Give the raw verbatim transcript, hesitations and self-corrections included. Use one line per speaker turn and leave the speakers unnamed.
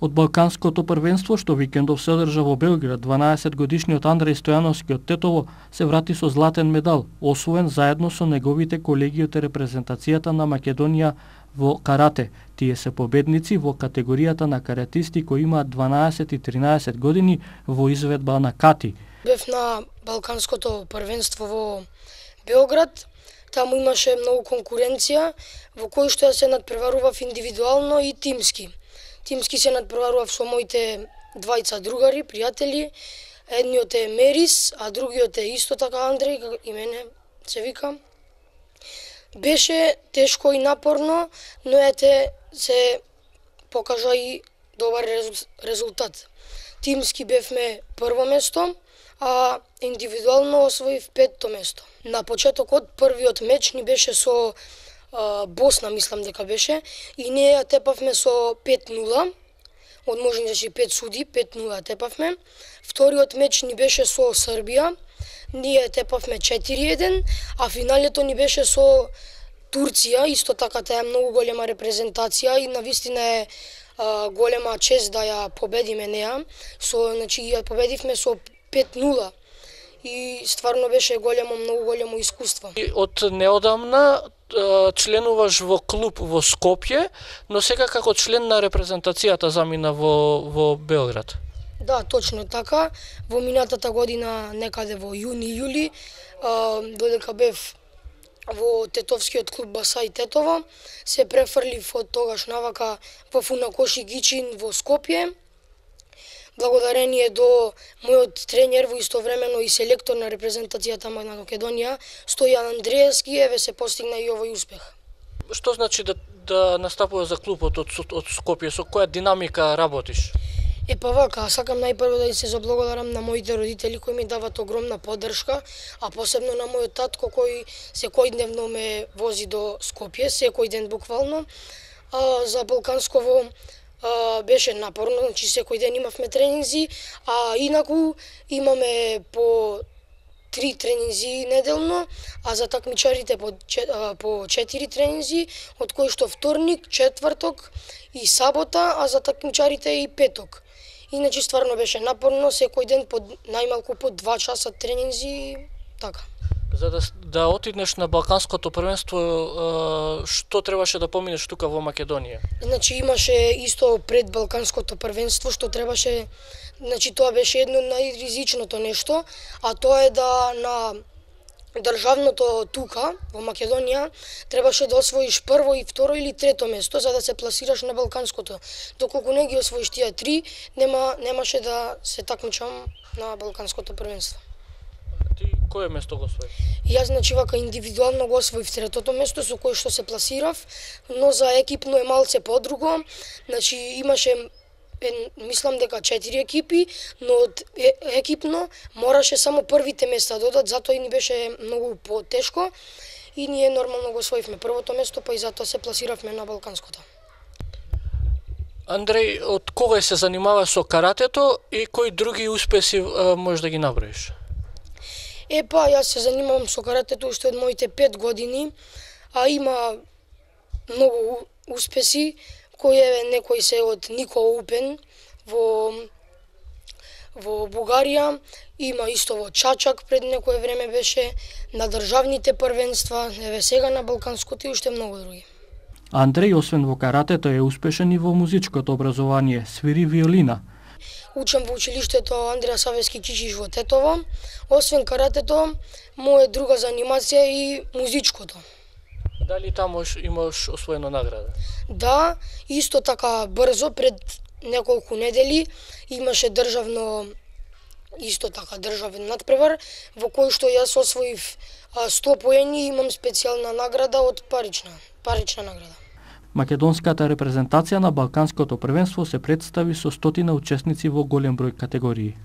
Од Балканското првенство што викендов се одржа во Белград, дванаесетгодишниот Андреј Стојановски од Тетово се врати со златен медал, освоен заедно со неговите колеги од репрезентацијата на Македонија во карате. Тие се победници во категоријата на каратисти кои имаат дванаесет и тринаесет години во изведба на кати.
Бев на Балканското првенство во Белград. Таму имаше многу конкуренција, во кој што ја се надпреварував индивидуално и тимски. Тимски се надпреварував со моите двајца другари, пријатели. Едниот е Мерис, а другиот е исто така Андреј, како и мене се вика. Беше тешко и напорно, но ете се покажа и добар резултат. Тимски бевме прво место, а индивидуално освоив петто место. На почетокот првиот меч ни беше со а, Босна, мислам дека беше, и ние ја тепавме со пет нула, од можности пет суди, пет нула тепавме. Вториот меч ни беше со Србија, ние тепавме четири еден, а финалето ни беше со Турција, исто така таа е многу голема репрезентација и навистина е а, голема чест да ја победиме неа. Со, значи ја победивме со пет нула и стварно беше големо, многу големо искуство.
И од неодамна членуваш во клуб во Скопје, но сега како член на репрезентацијата замина во, во Белград.
Да, точно така. Во минатата година, некаде во јуни-јули, додека бев во тетовскиот клуб Басај Тетово, се префрлив од тогаш навака во Фунакоши Гичин во Скопје. Благодарение до мојот тренер во истовремено и селектор на репрезентацијата на Македонија, Стојан Андреевски, еве се постигна и овој успех.
Што значи да, да настапуваш за клубот од, од Скопје? Со која динамика работиш?
Е па вака, сакам најпрво да се заблагодарам на моите родители кои ми дават огромна поддршка, а посебно на мојот татко кој секојдневно ме вози до Скопје, секој ден буквално. А, за Балкансково а, беше напорно, значи секој ден имавме тренинзи, а инаку имаме по три тренинзи неделно, а за такмичарите по, по четири тренинзи, од кои што вторник, четврток и сабота, а за такмичарите и петок. Иначе стварно беше напорно, секој ден по најмалку по два часа тренинзи, така.
За да, да отиднеш на Балканското првенство, што требаше да поминеш тука во Македонија?
Значи имаше исто пред Балканското првенство што требаше, значи тоа беше едно најризичното нешто, а тоа е да на државното тука во Македонија требаше да освоиш прво и второ или трето место за да се пласираш на Балканското. Доколку не ги освоиш тие три, нема немаше да се такмичам на Балканското првенство.
Ти кое место го освои?
Јас значи вака индивидуално го освоив третото место со кое што се пласирав, но за екипно е малце подруго. Значи имаше мислам дека четири екипи, но од екипно мораше само првите места додат, затоа и ни беше многу потешко и ние нормално го освоивме првото место, па и затоа се пласиравме на Балканското.
Андреј, од кога се занимаваш со каратето и кои други успеси можеш да ги наброиш?
Е па, јас се занимавам со каратето уште од моите пет години, а има многу успеси, кој е некој се од Нико Упен во во Бугарија, има исто во Чачак пред некое време беше, на државните првенства, еве сега на Балканското и уште многу други.
Андреј, освен во каратето, е успешен и во музичкото образование, свири виолина.
Учам во училиштето Андреа Савески Кичиш во Тетово. Освен каратето, моја друга занимација е и музичкото.
Дали таму имаш освоено награда?
Да, исто така брзо, пред неколку недели, имаше државно, исто така државен надпревар, во кој што јас освоив сто поени и имам специјална награда од парична, парична награда.
Македонската репрезентација на Балканското првенство се представи со стотина учесници во голем број категории.